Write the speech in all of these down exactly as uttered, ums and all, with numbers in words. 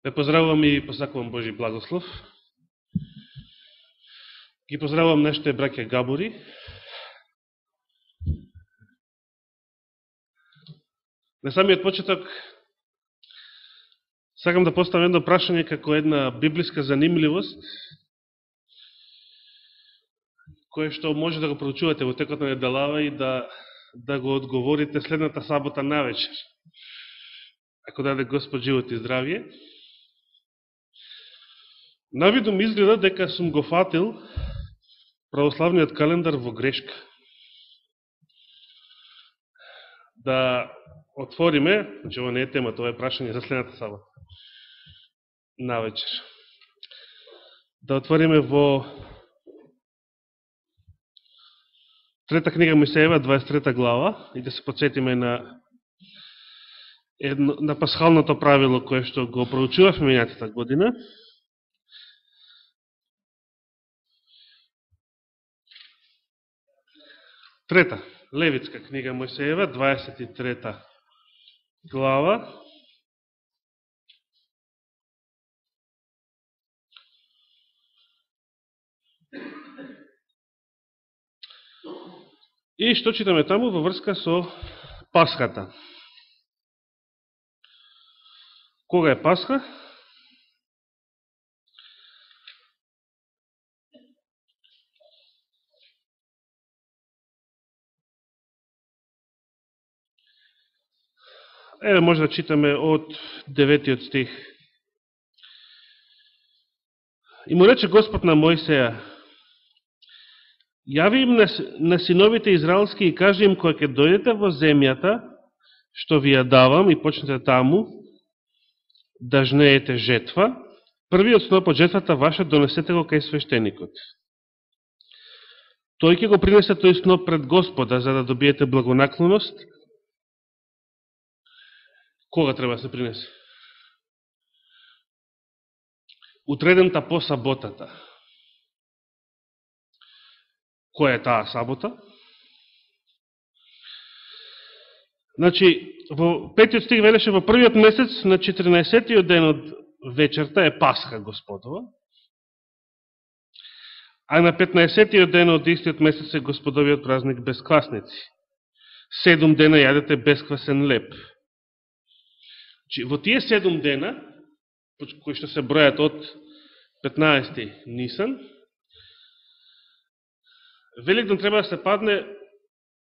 Ве поздравувам и посакувам Божи благослов. Ги поздравувам нашите браќа Габори. На самиот почеток сакам да поставам едно прашање како една библиска занимливост, кое што може да го проучувате во текот на неделава и да, да го одговорите следната сабота навечер, ако даде Господ живот и здравје. Навидум изгледа дека сум го фатил православниот календар во грешка. Да отвориме, значи ова не е тема, тоа е прашање за следната сабота навечер. Да отвориме во трета книга Мојсеева, дваесет и трета глава, и да се подсетиме на едно, на пасхалното правило кое што го проучувавме минатата година. Трета, Левитска книга Мојсеева, дваесет и трета глава. И што читаме таму во врска со Пасхата. Кога е Пасха? Еве може да читаме од деветиот стих. И му рече Господ на Мојсеја: јави им на, на синовите израелски и кажи им, кога ќе дојдете во земјата, што ви ја давам, и почнете таму да жнеете жетва, првиот сноп од жетвата ваша донесете го кај свештеникот. Тој ќе го принесе тој сноп пред Господа, за да добиете благонаклоност. Кога треба да се принесе? Утредента по саботата. Која е таа сабота? Значи, во петиот стих велеше, во првиот месец, на четиринаесеттиот ден од вечерта е Пасха Господова, а на петнаесеттиот ден од истиот месец е Господовиот празник без квасници. Седум дена јадете бесквасен леп. Значи, во тие седум дена, кои што се бројат од петнаесети Нисан, Великден треба да се падне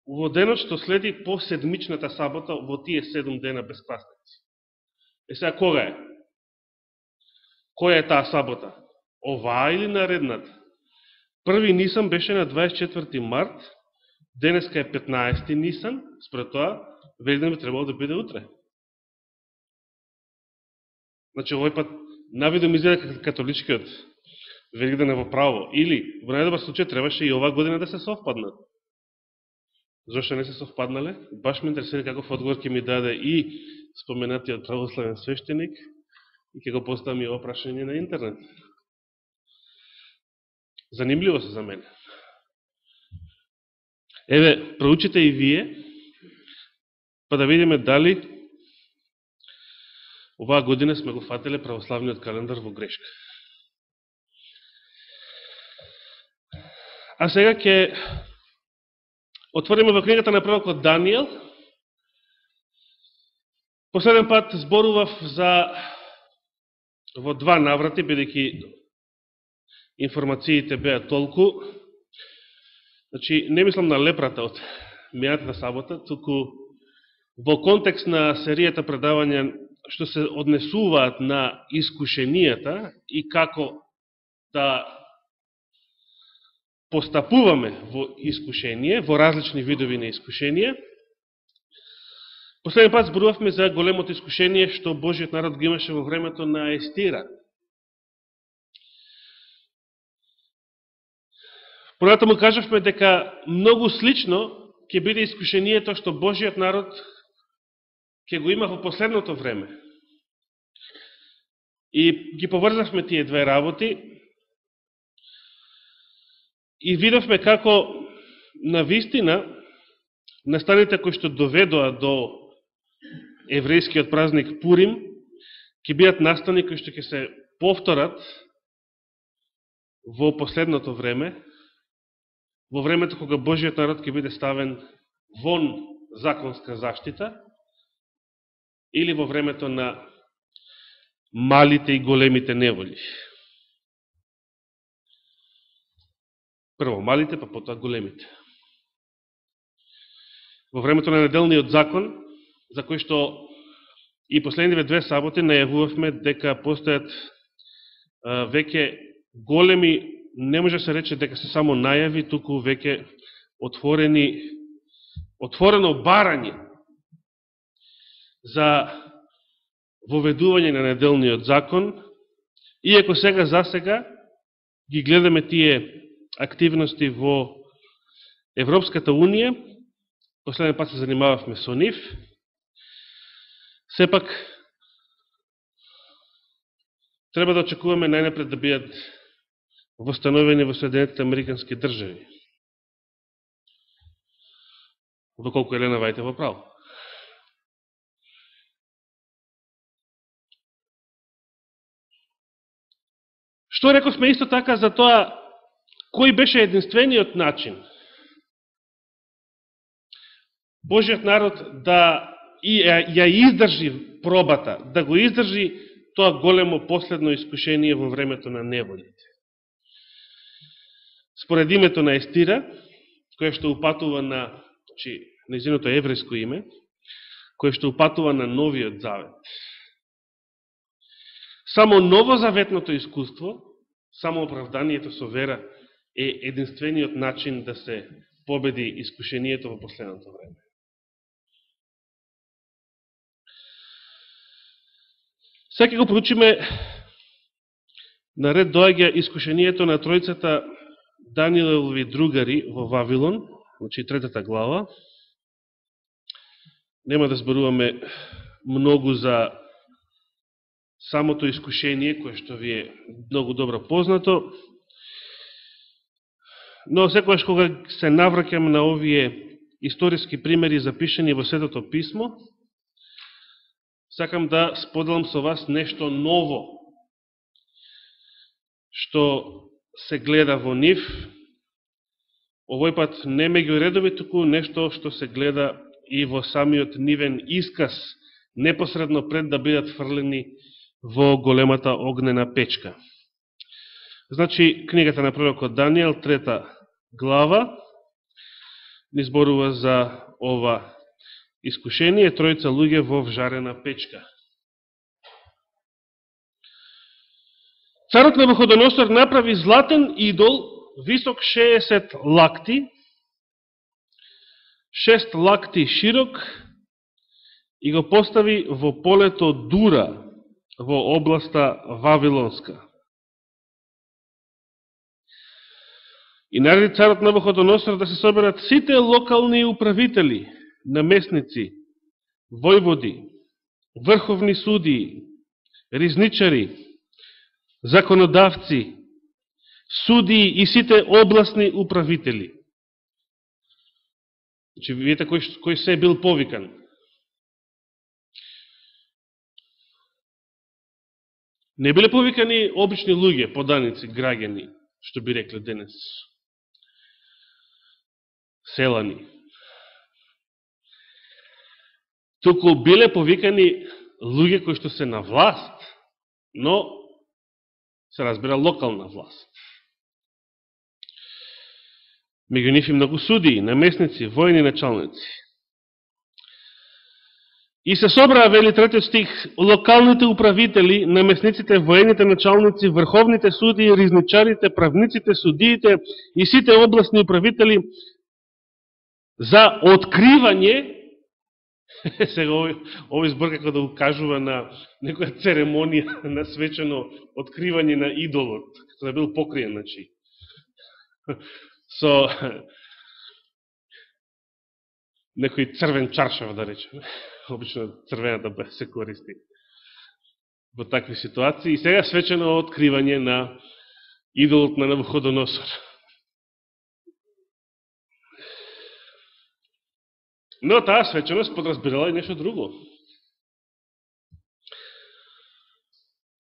во денот што следи по седмичната сабота во тие седум дена без квасници. Е сега кога е? Која е таа сабота? Оваа или наредната? Први Нисан беше на дваесет и четврти март, денеска е петнаесети Нисан, според тоа Великден би требало да биде утре. Значи, овој пат навидом изгледа како католичкиот Великден е во право. Или, во најдобар случај, требаше и оваа година да се совпаднат. Зошто не се совпаднале? Баш ме интересира каков одговор ќе ми даде и споменатиот православен свештеник, и ќе го поставам и ова прашање на интернет. Занимливо се за мене. Еве, проучите и вие, па да видиме дали оваа година сме го фателе православниот календар во грешка. А сега ќе отвориме во книгата на пророкот Данијел. Последен пат зборував за во два наврати, бидејќи информациите беа толку. Значи, не мислам на лепрата од мејатата сабота, туку во контекст на серијата предавања што се однесуваат на искушенијата и како да постапуваме во искушение, во различни видови на искушение. Последен пат зборувавме за големото искушение што Божиот народ го имаше во времето на Естира. Понатаму кажавме дека многу слично ќе биде искушението што Божиот народ ќе го има во последното време. И ги поврзавме тие две работи и видовме како на вистина настаните кои што доведоа до еврејскиот празник Пурим ќе бидат настани кои што ќе се повторат во последното време, во времето кога Божиот народ ќе биде ставен вон законска заштита, или во времето на малите и големите неволи. Прво малите, па потоа големите. Во времето на неделниот закон, за кој што и последниве две саботи најавувавме дека постојат а, веќе големи, не може се рече дека се само најави, туку веќе отворени, отворено барање за воведување на неделниот закон, иако сега за сега ги гледаме тие активности во Европската Унија, последен пат се занимававме со нив, сепак треба да очекуваме најнапред да бидат востановени во Соединетите Американски држави. Доколку Елена Вајте во право. Што рековме исто така за тоа, кој беше единствениот начин Божиот народ да и ја издржи пробата, да го издржи тоа големо последно искушение во времето на неволите. Според името на Естира, која што упатува на, значи, нејзиното еврејско име, која што упатува на Новиот Завет. Само новозаветното искуство, само оправданието со вера е единствениот начин да се победи искушението во последното време. Сега го проучиме, наред доаѓа искушението на тројцата Даниелови другари во Вавилон, значи третата глава. Нема да зборуваме многу за самото искушение, кое што ви е многу добро познато, но секојаш кога се навраќам на овие историски примери запишени во Светото писмо, сакам да споделам со вас нешто ново, што се гледа во нив. Овој пат не меѓу редови, туку нешто што се гледа и во самиот нивен исказ, непосредно пред да бидат фрлени во големата огнена печка. Значи, книгата на пророкот Даниел, трета глава, ни зборува за ова искушение, тројца луѓе во вжарена печка. Царот Навуходоносор направи златен идол, висок шеесет лакти, шест лакти широк, и го постави во полето Дура, во областа Вавилонска. И нареди царот Навуходоносор да се соберат сите локални управители, наместници, војводи, врховни судии, ризничари, законодавци, судии и сите областни управители. Значи, видите кој, кој се бил повикан. Не биле повикани обични луѓе, поданици, граѓани, што би рекле денес. Селани. Туку биле повикани луѓе кои што се на власт, но се разбира локална власт. Меѓу нив и многу судии, наместници, војни началници. И се собраа, вели третиот стих, локалните управители, наместниците, војните началници, врховните судии, riзничарите, правниците, судиите и сите областни управители за откривање, сега овој, овој збор како да укажува на некоја церемонија на свечено откривање на идолот, како да бил покриен, значи. Со некој црвен чаршав, да речем. Обично црвената бе се користи во такви ситуации. И сега свечено откривање на идолот на Навуходоносор. Но таа свеченост подразбирала и нешто друго.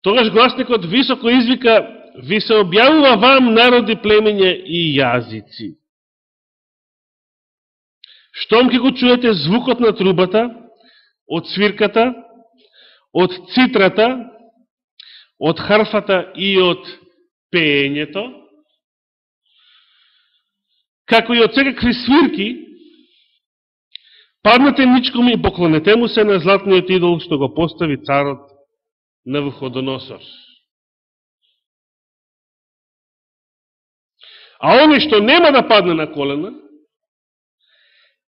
Тогаш гласникот високо извика: ви се објавува вам, народи, племења и јазици. Штом ке го чуете звукот на трубата, од свирката, од цитрата, од харфата и од пеењето, како и од секакви свирки, паднете ничком и поклонете му се на златниот идол што го постави царот Навуходоносор. А оној што нема да падне на колена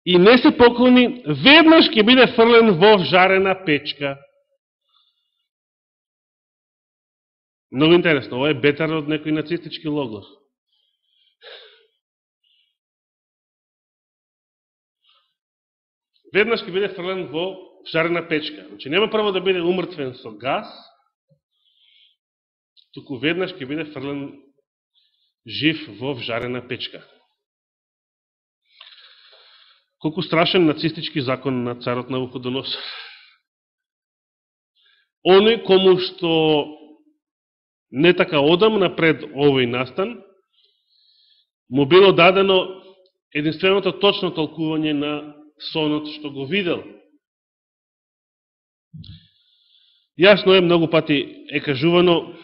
и не се поклони, веднаш ќе биде фрлен во жарена печка. Много интересно, ова е бетар од некој нацистички логор. Веднаш ќе биде фрлен во жарена печка. Значи, нема прво да биде умртвен со газ, туку веднаш ќе биде фрлен жив во жарена печка. Колку страшен нацистички закон на царот Навуходоносор. Оној кому што не така одамна пред овој настан, му било дадено единственото точно толкување на сонот што го видел. Јасно е, многу пати е кажувано,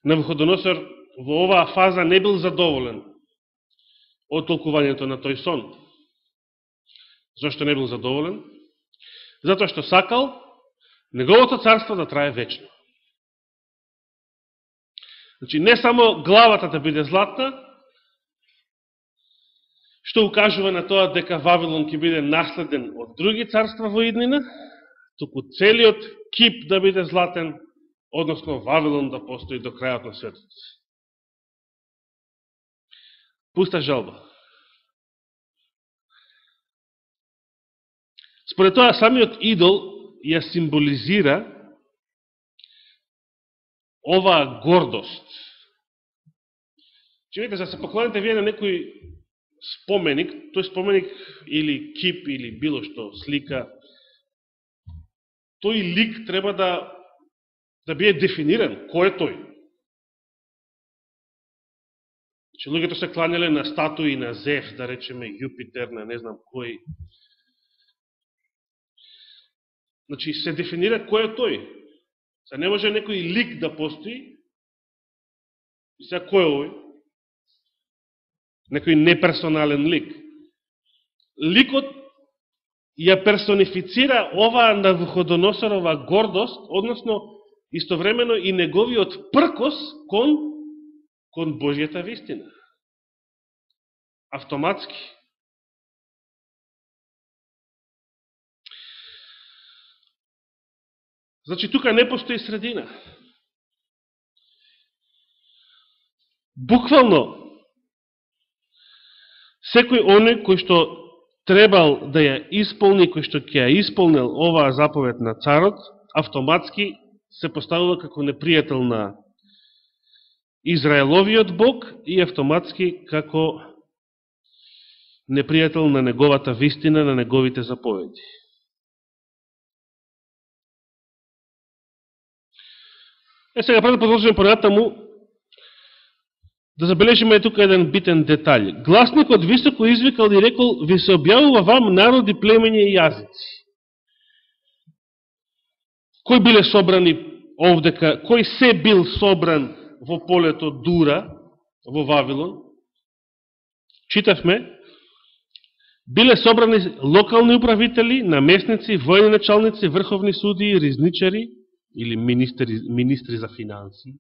Навуходоносор во оваа фаза не бил задоволен од толкувањето на тој сон. Зошто не бил задоволен? Затоа што сакал неговото царство да трае вечно. Значи, не само главата да биде златна, што укажува на тоа дека Вавилон ќе биде наследен од други царства во иднина, туку целиот кип да биде златен, односно Вавилон да постои до крајот на светот. Пуста жалба. Според тоа, самиот идол ја символизира оваа гордост. Че видите, за се поклоните вие на некој споменик, тој споменик или кип или било што слика, тој лик треба да да биде дефиниран. Кој е тој? Че луѓето се кланяле на статуи на Зевс, да речеме Јупитер, на не знам кој. Значи, се дефинира кој е тој. Се не може некој лик да постои. И сега кој е овој? Некој неперсонален лик. Ликот ја персонифицира оваа Навуходоносорова гордост, односно истовремено и неговиот пркос кон, кон Божјата вистина. Автоматски. Значи, тука не постои средина. Буквално, секој оној кој што требал да ја исполни, кој што ќе ја исполнил оваа заповед на царот, автоматски се поставува како непријател на Израеловиот Бог и автоматски како непријател на неговата вистина, на неговите заповеди. Е, сега, пред да продолжиме понатаму, да забележиме тука еден битен детаљ. Гласникот високо извикал и рекол: ви се објавува вам, народи, племења и јазици. Кој биле собрани овдека, кој се бил собран во полето Дура, во Вавилон? Читавме, биле собрани локални управители, наместници, војни началници, врховни судии, ризничари или министри, министри за финанси,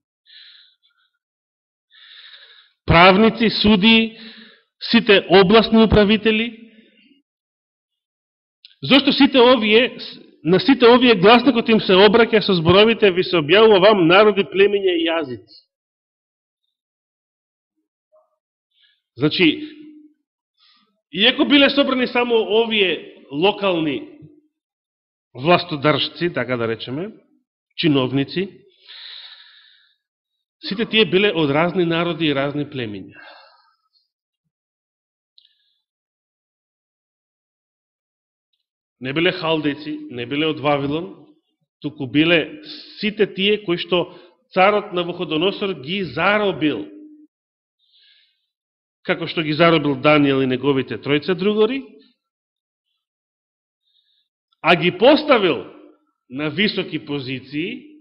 правници, судии, сите областни управители. Зошто сите овие, на сите овие гласникот им се обраќа со зборовите: ви се објавува вам, народи, племења и јазици. Значи, иако биле собрани само овие локални властодржци, така да речеме, чиновници, сите тие биле од разни народи и разни племења. Не биле халдејци, не биле од Вавилон, туку биле сите тие кои што царот Навуходоносор ги заробил. Како што ги заробил Данијел и неговите тројца другори, а ги поставил на високи позиции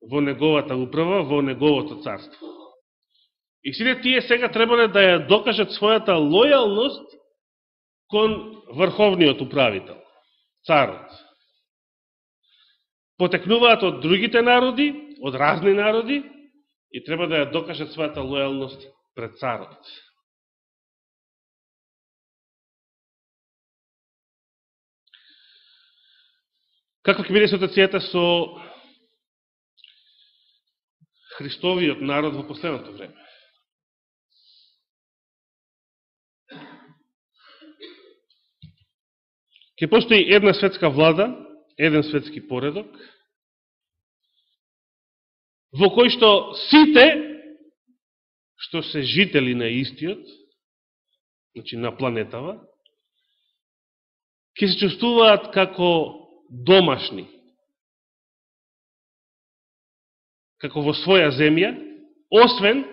во неговата управа, во неговото царство. И сите тие сега требале да ја докажат својата лојалност кон врховниот управител, царот. Потекнуваат од другите народи, од разни народи, и треба да ја докажат својата лојалност пред царот. Каква ќе биде ситуацијата со Христовиот народ во последното време? Ќе постои една светска влада, еден светски поредок, во кој што сите што се жители на истиот, значи на планетава, ќе се чувствуваат како домашни, како во своја земја, освен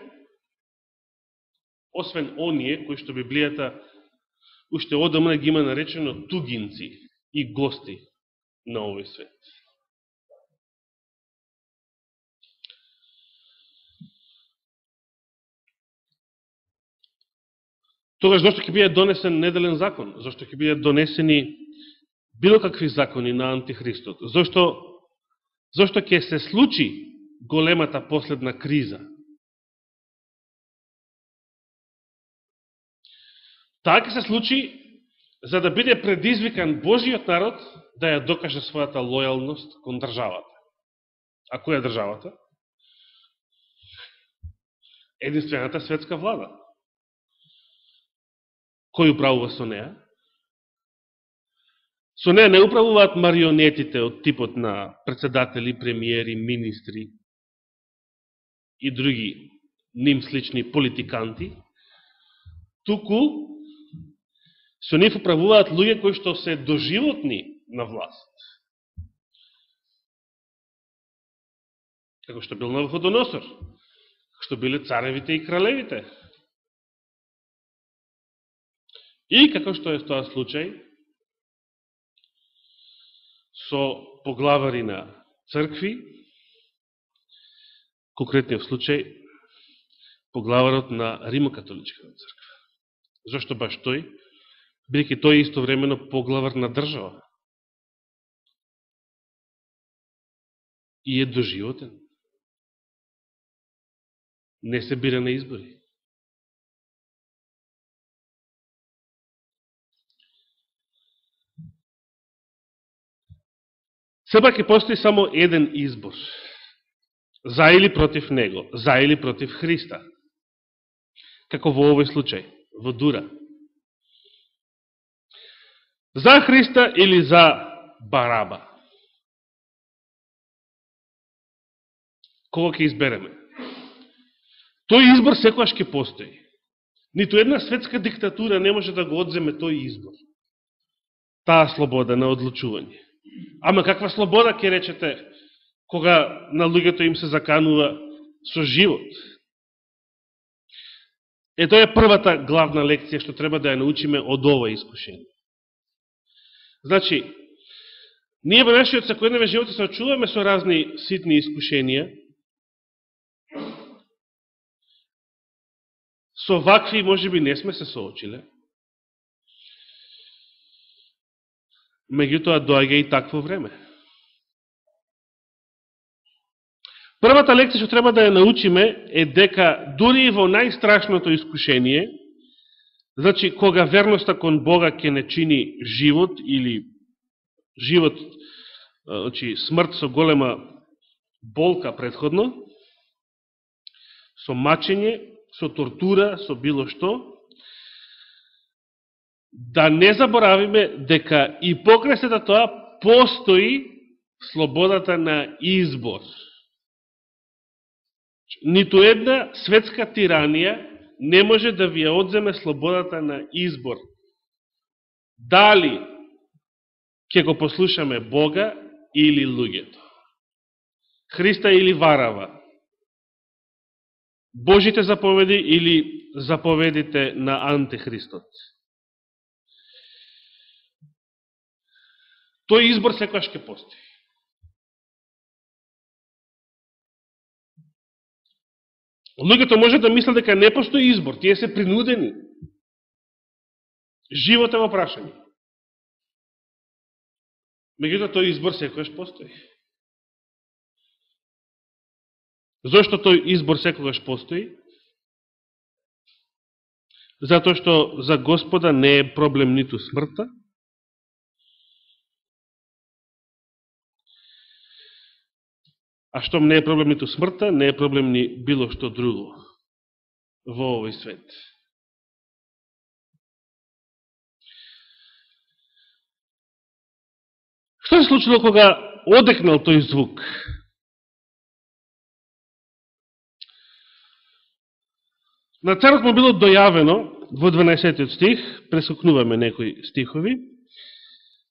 освен оние кои што Библијата уште одамна ги има наречено тугинци и гости на овој свет. Тогаш зашто ќе биде донесен неделен закон? Зашто ќе бидат донесени било какви закони на антихристот? Зашто, зашто ќе се случи големата последна криза? Таа ќе се случи за да биде предизвикан Божиот народ да ја докаже својата лојалност кон државата. А која е државата? Единствената светска влада. Кој управува со неа? Со неа не управуваат марионетите од типот на председатели, премиери, министри и други ним слични политиканти, туку со нив управуваат луѓе кои што се доживотни на власт. Како што бил Навуходоносор, како што биле царевите и кралевите. И како што е тоа случај со поглавари на цркви, конкретниот случај поглаварот на Римокатоличката црква. Зошто баш тој? Бидејќи тој е истовремено поглавар на држава. И е доживотен. Не се бира на избори. Сепак ќе постои само еден избор. За или против него, за или против Христа. Како во овој случај, во Дура. За Христа или за Бараба. Кого ќе избереме? Тој избор секојаш ќе постои. Ниту една светска диктатура не може да го одземе тој избор. Таа слобода на одлучување. Ама каква слобода ќе речете кога на луѓето им се заканува со живот? Е, тоа е првата главна лекција што треба да ја научиме од ова искушение. Значи, ние во нашиот секојдневен живот се очуваме со разни ситни искушенија. Со вакви можеби не сме се соочиле. Меѓутоа доаѓа и такво време. Првата лекција што треба да ја научиме е дека дури и во најстрашното искушение, значи кога верноста кон Бога ќе не чини живот или живот, значи смрт со голема болка претходно, со мачење, со тортура, со било што, да не заборавиме дека и покрај сето тоа постои слободата на избор. Ниту една светска тиранија не може да ви ја одземе слободата на избор. Дали ќе го послушаме Бога или луѓето. Христа или Варава. Божите заповеди или заповедите на антихристот. Тој избор секојаш ќе постои. Луѓето може да мислат дека не постои избор, тие се принудени. Живот е во прашање. Меѓутоа тој избор секојаш постои. Зошто тој избор секогаш постои? Затоа што за Господа не е проблем ниту смртта, а штом не е проблем ниту смртта, не е проблем ни било што друго во овој свет. Што се случило кога одекнал тој звук? На царот му било дојавено во дванаесеттиот стих, прескокнуваме некои стихови,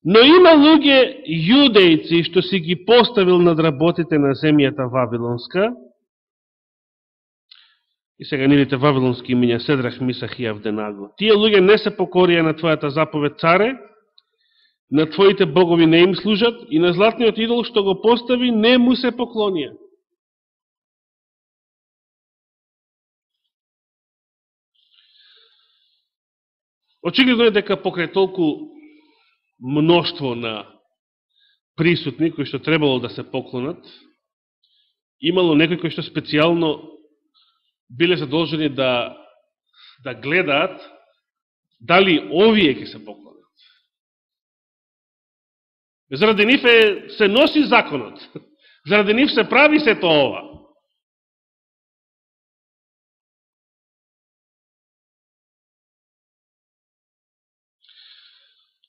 но има луѓе јудејци што си ги поставил над работите на земјата Вавилонска, и сега нивните вавилонски имиња Седрах, Мисах и Авденаго. Тие луѓе не се покорија на твојата заповед, царе, на твоите богови не им служат и на златниот идол што го постави не му се поклонија. Очигледно е дека покрај толку мноштво на присутни кои што требало да се поклонат, имало некои кои што специјално биле задолжени да, да гледаат дали овие ќе се поклонат. Заради нив е, се носи законот, заради нив се прави сето ова.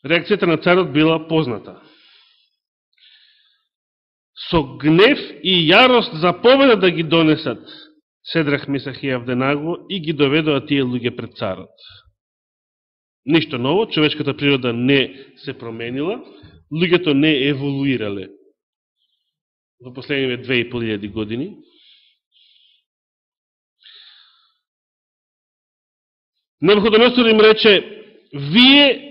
Реакцијата на царот била позната. Со гнев и јарост заповеда да ги донесат Седрах, Мисах и Авденаго и ги доведоа тие луѓе пред царот. Ништо ново, човечката природа не се променила, луѓето не еволуирале во последниве две и пол илјади години. Навуходоносор им рече: вие,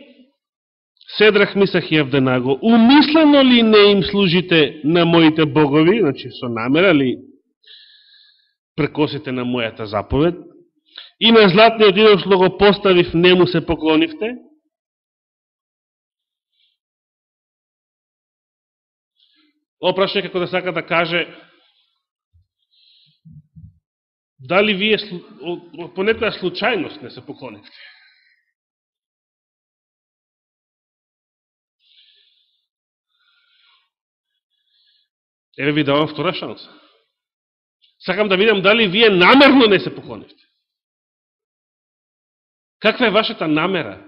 Седрах, Мисах и Авденаго, умислено ли не им служите на моите богови, значи со намера ли прекосите на мојата заповед, и на златниот идол што го поставив не му се поклонивте? Опрашање како да сака да каже дали вие по некоја случајност не се поклонивте. Еве ви давам втора шанса. Сакам да видам дали вие намерно не се поклонивте. Каква е вашата намера?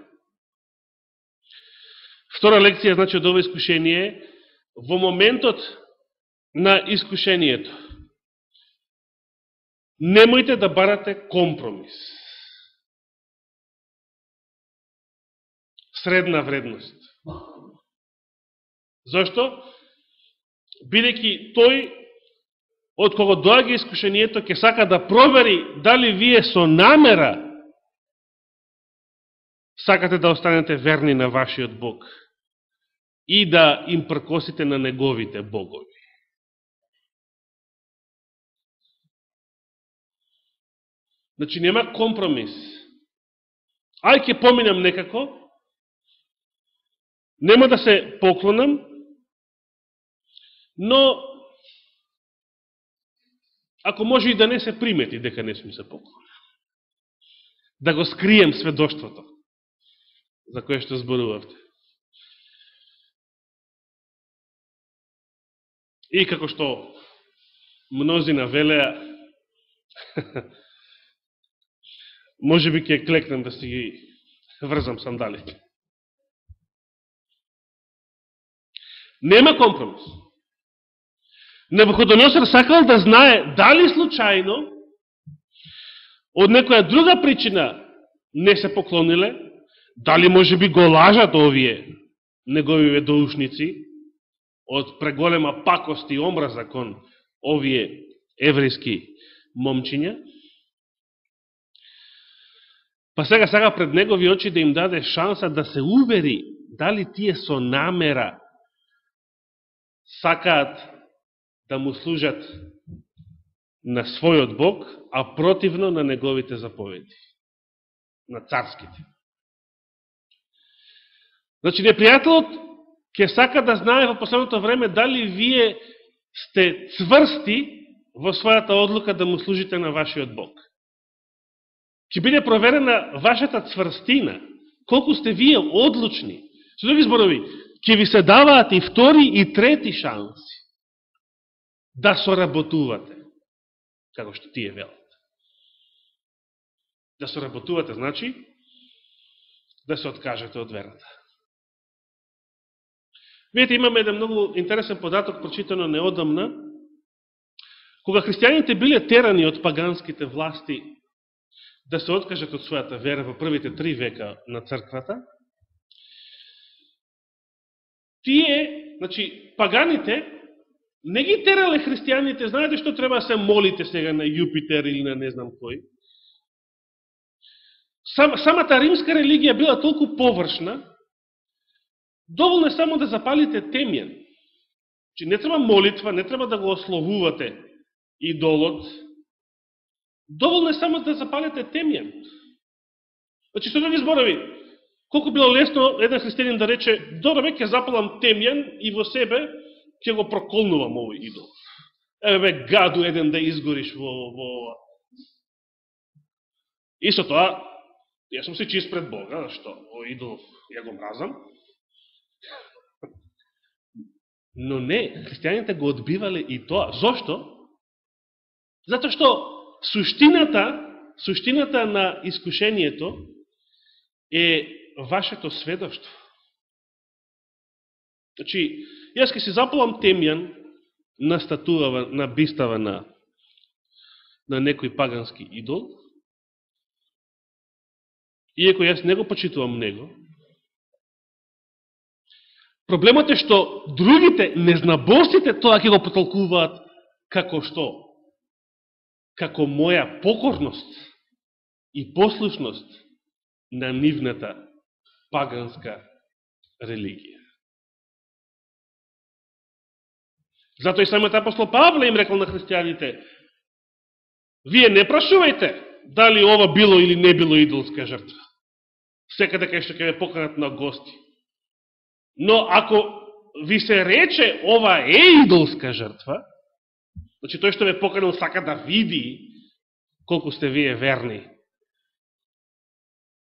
Втора лекција, значи, од ова искушение, во моментот на искушението, немојте да барате компромис. Средна вредност. Зошто? Бидејќи тој, од кого доаѓа искушението, ќе сака да провери дали вие со намера сакате да останете верни на вашиот Бог и да им пркосите на неговите богови. Значи, нема компромис. Ај ќе поминам некако, нема да се поклонам, но ако може и да не се примети дека не сум се поклонил. Да го скрием сведоштвото за кое што зборувавте. И како што мнозина велеа, може би ќе клекнем да си ги врзам сандалите. Нема компромис. Навуходоносор сакал да знае дали случајно од некоја друга причина не се поклониле, дали може би го лажат овие неговиве доушници, од преголема пакост и омраза кон овие еврејски момчиња. Па сега сега пред негови очи да им даде шанса да се увери дали тие со намера сакаат да му служат на својот Бог, а противно на неговите заповеди, на царските. Значи, непријателот ќе сака да знае во последното време дали вие сте цврсти во својата одлука да му служите на вашиот Бог. Ќе биде проверена вашата цврстина, колку сте вие одлучни. Со други зборови, ќе ви се даваат и втори и трети шанси да соработувате, како што тие велат. Да соработувате, значи, да се откажете од верата. Видите, имаме еден многу интересен податок, прочитано неодамна, кога христијаните биле терани од паганските власти да се откажат од својата вера во првите три века на црквата, тие, значи, паганите, не ги терале христијаните, знаете што треба да се молите сега на Јупитер или на не знам кој. Сам, самата римска религија била толку површна, доволно е само да запалите темјан. Значи, не треба молитва, не треба да го ословувате идолот, доволно е само да запалите темјан. Значи, што да ви зборови, колку било лесно еден христијанин да рече, добре, ќе запалам темјан и во себе ќе го проколнувам овој идол. Еве бе, гаду еден да изгориш во ова. И со тоа, јас сум се чист пред Бога, што овој идол ја го мразам. Но не, христијаните го одбивале и тоа. Зошто? Затоа што суштината, суштината на искушението е вашето сведоштво. Значи, јас ке си запалам темјан на статува, на бистава на, на некој пагански идол, иако јас не го почитувам него. Проблемот е што другите, незнабостите, тоа ќе го потолкуваат како што? Како моја покорност и послушност на нивната паганска религија. Затоа и самиот апостол Павле им рекол на христијаните, вие не прашувајте дали ова било или не било идолска жртва. Секаде кај што ќе ве поканат на гости. Но ако ви се рече ова е идолска жртва, значи тој што ве поканил сака да види колку сте вие верни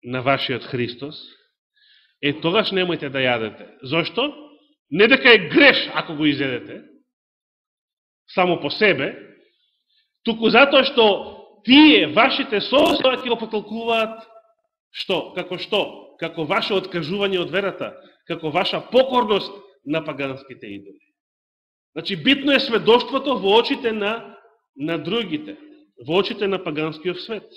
на вашиот Христос, е тогаш немојте да јадете. Зошто? Не дека е греш ако го изедете, само по себе, туку затоа што тие, вашите состоја ќе го потолкуваат што? Како што? Како ваше откажување од верата, како ваша покорност на паганските идоли. Значи, битно е сведоштвото во очите на, на другите, во очите на паганскиот свет.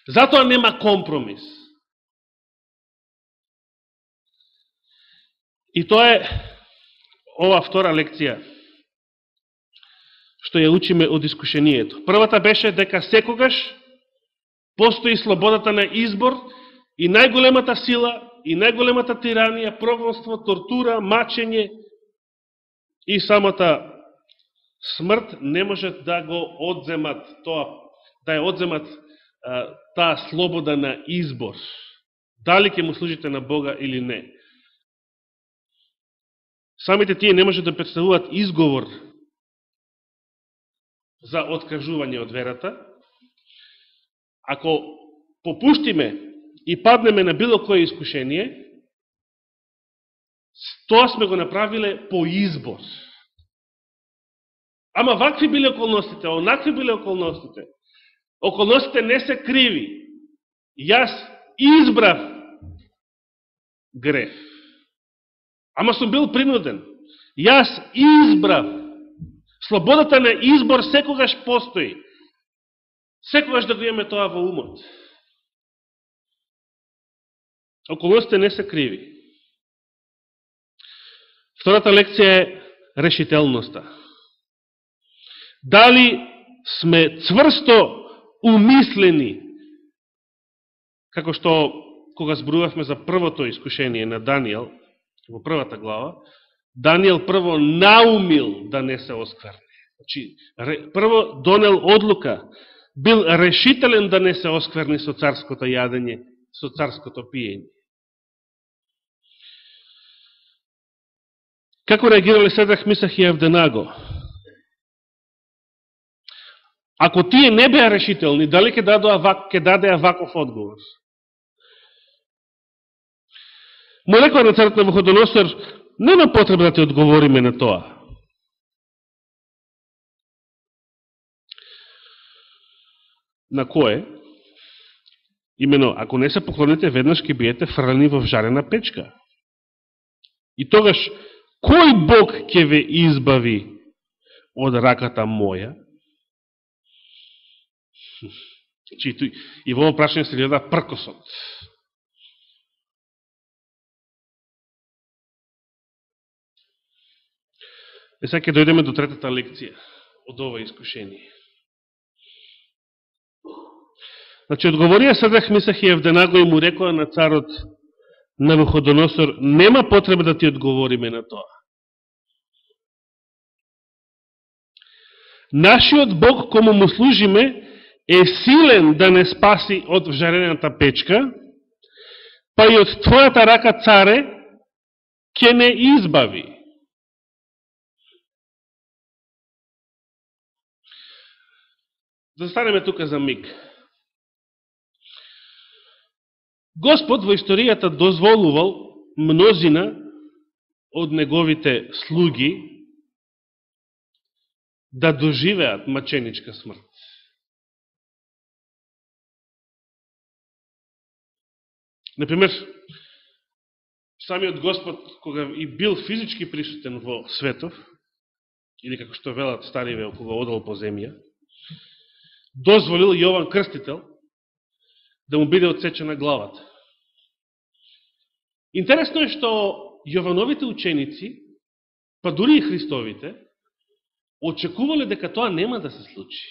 Затоа нема компромис. И тоа е ова втора лекција, што ја учиме од искушението. Првата беше дека секогаш постои слободата на избор и најголемата сила и најголемата тиранија, прогонство, тортура, мачење и самата смрт не можат да го одземат тоа, да ја одземат а, таа слобода на избор. Дали ќе му служите на Бога или не. Самите тие не можат да представуваат изговор за откажување од верата. Ако попуштиме и паднеме на било кое искушение, тоа сме го направиле по избор. Ама вакви биле околностите, онакви биле околностите. Околностите не се криви. Јас избрав греф. Ама сум бил принуден. Јас избрав. Слободата на избор секогаш постои. Секогаш да го имаме тоа во умот. Околностите не се криви. Втората лекција е решителноста. Дали сме цврсто умислени, како што кога зборувавме за првото искушение на Данијел, во првата глава, Данијел прво наумил да не се оскверне. Значи, прво донел одлука, бил решителен да не се оскверни со царското јадење, со царското пиење. Како реагирале Седрах, Мисах и Авденаго? Ако тие не беа решителни, дали ќе дадеа ваков одговор? Му рекла на царот Навуходоносор, нема потреба да ти одговориме на тоа. На кое? Имено, ако не се поклоните, веднаш ќе биете фрлени во жарена печка. И тогаш, кој Бог ќе ве избави од раката моја? И во ово прашање се гледа пркосот. И сега ќе дојдеме до третата лекција од ова искушение. Значи, одговорија Седрах, Мисах и Авденаго и му рекоа на царот Навуходоносор, нема потреба да ти одговориме на тоа. Нашиот Бог, кому му служиме, е силен да не спаси од вжарената печка, па и од твојата рака, царе, ќе не избави. Застанеме тука за миг. Господ во историјата дозволувал мнозина од неговите слуги да доживеат маченичка смрт. Например, самиот Господ, кога и бил физички присутен во светов, или како што велат стариве, кога одел по земја, дозволил Јован Крстител да му биде отсечена главата. Интересно е што Јовановите ученици, па дури и Христовите, очекувале дека тоа нема да се случи.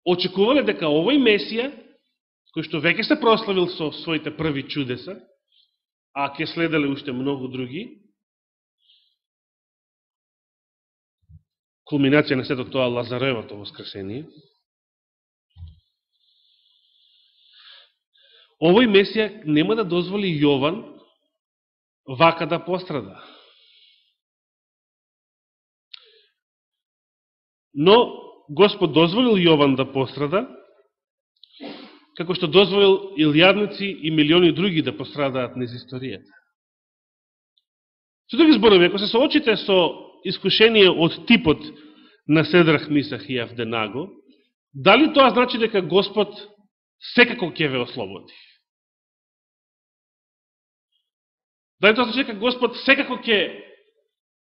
Очекувале дека овој Месија, кој што веќе се прославил со своите први чудеса, а ќе следеле уште многу други, кулминација на сето тоа Лазаревото воскресение, овој Месија нема да дозволи Јован вака да пострада. Но Господ дозволил Јован да пострада, како што дозволил илјадници и милиони други да пострадаат низ историјата. Со други зборови, ако се соочите со искушение од типот на Седрах, Мисах и Авденаго, дали тоа значи дека Господ секако ќе ве ослободи? Дали тоа значи дека Господ секако ќе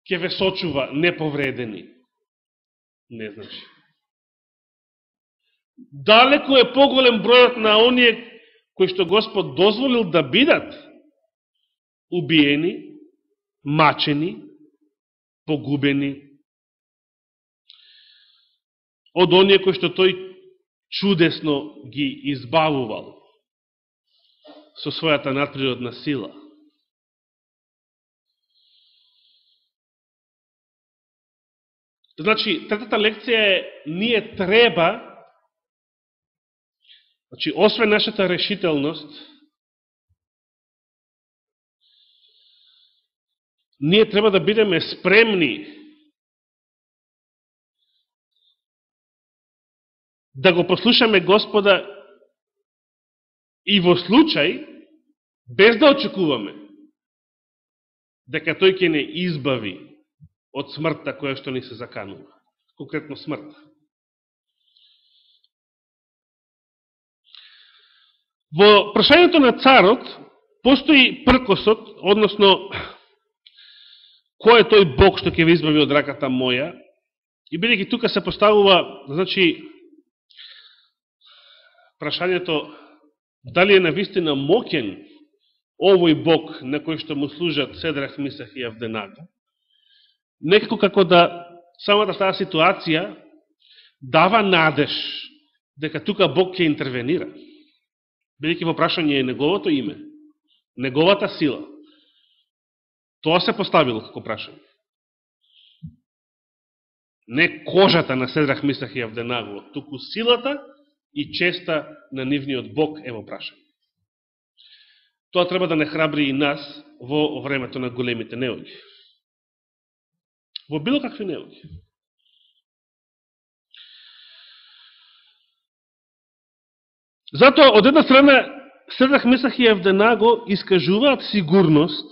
ќе ве сочува неповредени? Не значи. Далеко е поголем бројот на оние кои што Господ дозволил да бидат убиени, мачени, погубени, од оние кои што тој чудесно ги избавувал со својата надприродна сила. Значи, третата лекција е, ние треба, значи, освен нашата решителност, ние треба да бидеме спремни да го послушаме Господа и во случај, без да очекуваме, дека тој ќе не избави од смртта која што ни се заканува. Конкретно смртта. Во прашањето на царот постои пркосот, односно кој е тој Бог што ќе ви избави од раката моја, и бидејќи тука се поставува, значи, прашањето дали е навистина моќен овој Бог на кој што му служат Седрах, Мисах и Авденаго, некако како да самата таа ситуација дава надеж дека тука Бог ќе интервенира. Бидејќи во прашање е неговото име, неговата сила. Тоа се поставило како прашање. Не кожата на Седрах, Мисах и Авденаго, туку силата и честа на нивниот Бог е во прашање. Тоа треба да не храбри и нас во времето на големите неуги. Во било какви неуги. Затоа, од една страна, Седрах, Мисах и Авденаго искажуваат сигурност,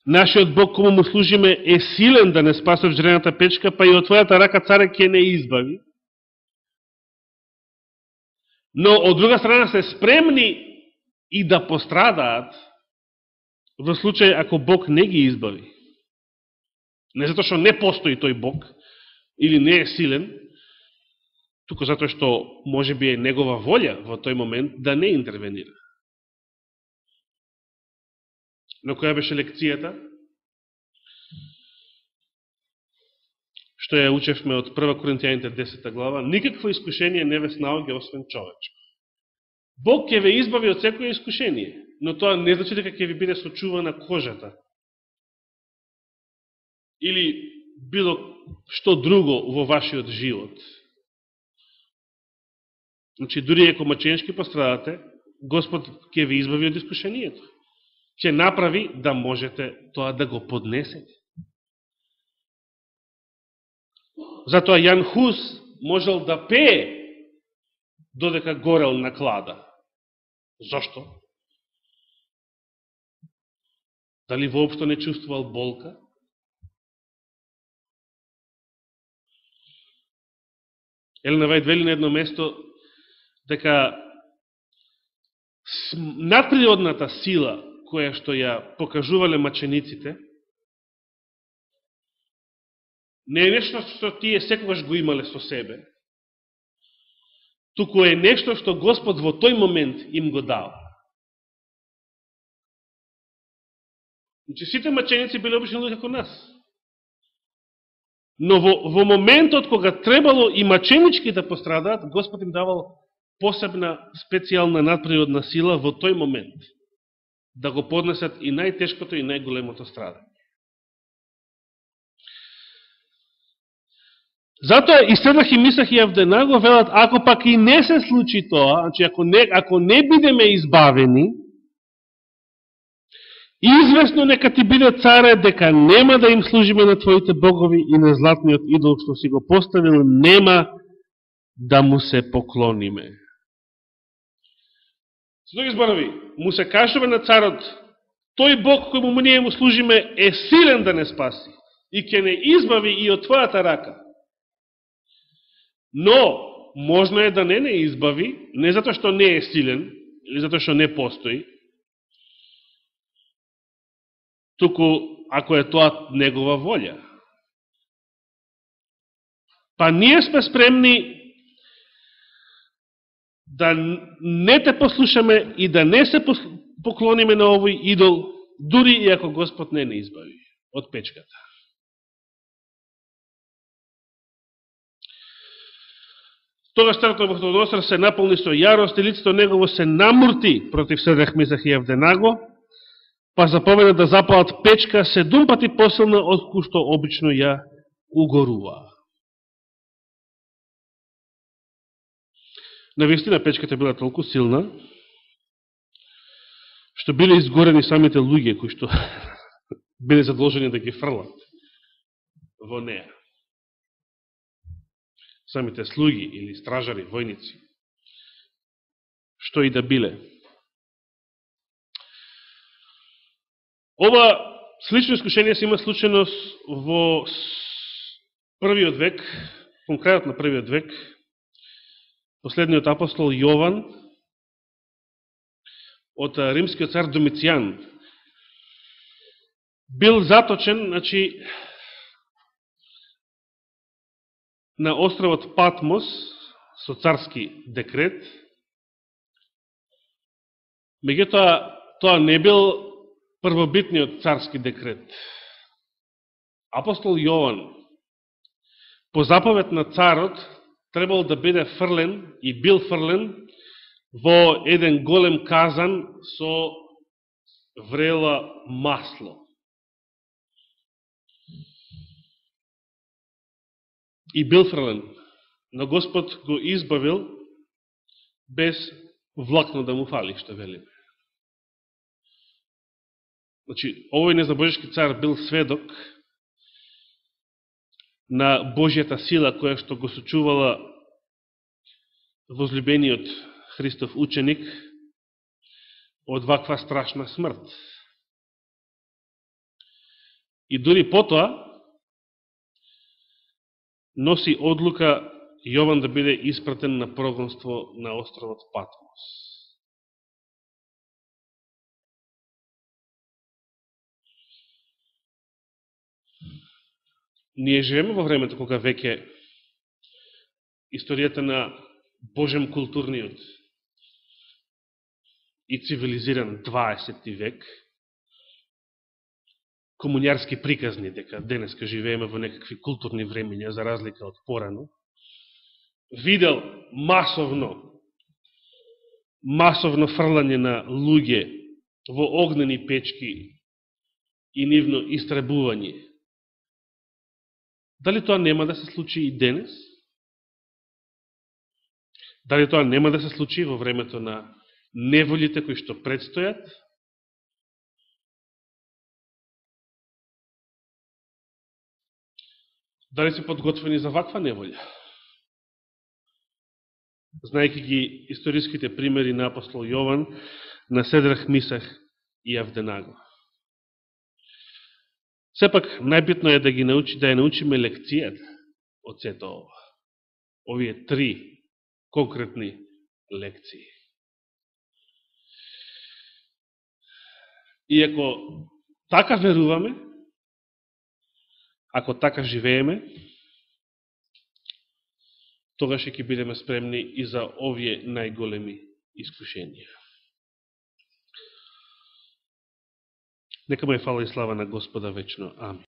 нашиот Бог кому му служиме е силен да не спасе од жрената печка, па и од твојата рака царе ќе не избави. Но од друга страна се спремни и да пострадаат во случај ако Бог не ги избави. Не затоа што не постои тој Бог или не е силен, туку затоа што може би е негова волја во тој момент да не интервенира. Но која беше лекцијата? Што ја учевме од прва Коринтијаните десета глава, никакво искушение не ве снаоѓа освен човечко. Бог ќе ве избави од секој искушение, но тоа не значи дека ќе ви биде сочувана кожата. Или било што друго во вашиот живот. Значи, дури ако маченешки пострадате, Господ ќе ви избави од искушението. Ќе направи да можете тоа да го поднесете. Затоа Јан Хус можел да пее додека горел на клада. Зошто? Дали воопшто не чувствувал болка? Елена Вајд вели на едно место дека надприродната сила која што ја покажувале мачениците не е нешто што тие секогаш го имале со себе, туку е нешто што Господ во тој момент им го дал. Значи, сите маченици биле обични луѓе како нас. Но во, во моментот кога требало и маченички да пострадаат, Господ им давал посебна, специјална надприродна сила во тој момент да го поднесат и најтешкото и најголемото страдање. Затоа и Седрах и Мисах и Авденаго велат, ако пак и не се случи тоа, значи ако не, ако не бидеме избавени, известно нека ти биде царе дека нема да им служиме на твоите богови и на златниот идол што си го поставил, нема да му се поклониме. Со други зборови, му се кажува на царот, тој Бог кој му ние му служиме е силен да не спаси и ќе не избави и од твојата рака. Но, можно е да не не избави, не затоа што не е силен, или затоа што не постои, туку ако е тоа негова волја. Па ние сме спремни да не те послушаме и да не се поклониме на овој идол, дури и ако Господ не не избави од печката. Тогаш царот Навуходоносор се наполни со јарост и лицето негово се намурти против Седрах, Мисах и Авденаго, па заповеда да запалат печка седум пати посилна од кој што обично ја угорува. Навистина печката била толку силна, што биле изгорени самите луѓе кои што биле задолжени да ги фрлат во неа. Самите слуги или стражари, војници, што и да биле. Ова слично искушение се има случено во првиот век, конкретно на првиот век. Последниот апостол Јован од римскиот цар Домицијан бил заточен, значи, на островот Патмос со царски декрет. Меѓутоа, тоа не бил првобитниот царски декрет. Апостол Јован, по заповед на царот, требало да биде фрлен и бил фрлен во еден голем казан со врела масло. И бил фрлен, но Господ го избавил без влакно да му фали, што велиме. Значи, овој незабожешки цар бил сведок на Божјата сила, која што го сочувала возлюбениот Христов ученик од ваква страшна смрт. И дури потоа носи одлука Јован да биде испратен на прогонство на островот Патмос. Ние живееме во времето кога веќе историјата на Божем културниот и цивилизиран дваесетти век, комунјарски приказни, дека денеска живееме во некакви културни времења, за разлика од порано, видел масовно, масовно фрлање на луѓе во огнени печки и нивно истребување. Дали тоа нема да се случи и денес? Дали тоа нема да се случи во времето на неволите кои што предстојат? Дали се подготвени за ваква неволја? Знаеки ги историските примери на апостол Јован, на Седрах, Мисах и Авденаго. Сепак, најбитно е да ги научи, да ја научиме лекцијата од сето ова. Овие три конкретни лекции. И ако така веруваме, ако така живееме, тогаш ќе бидеме спремни и за овие најголеми искушенија. Нека му е фала и слава на Господа вечно. Амин.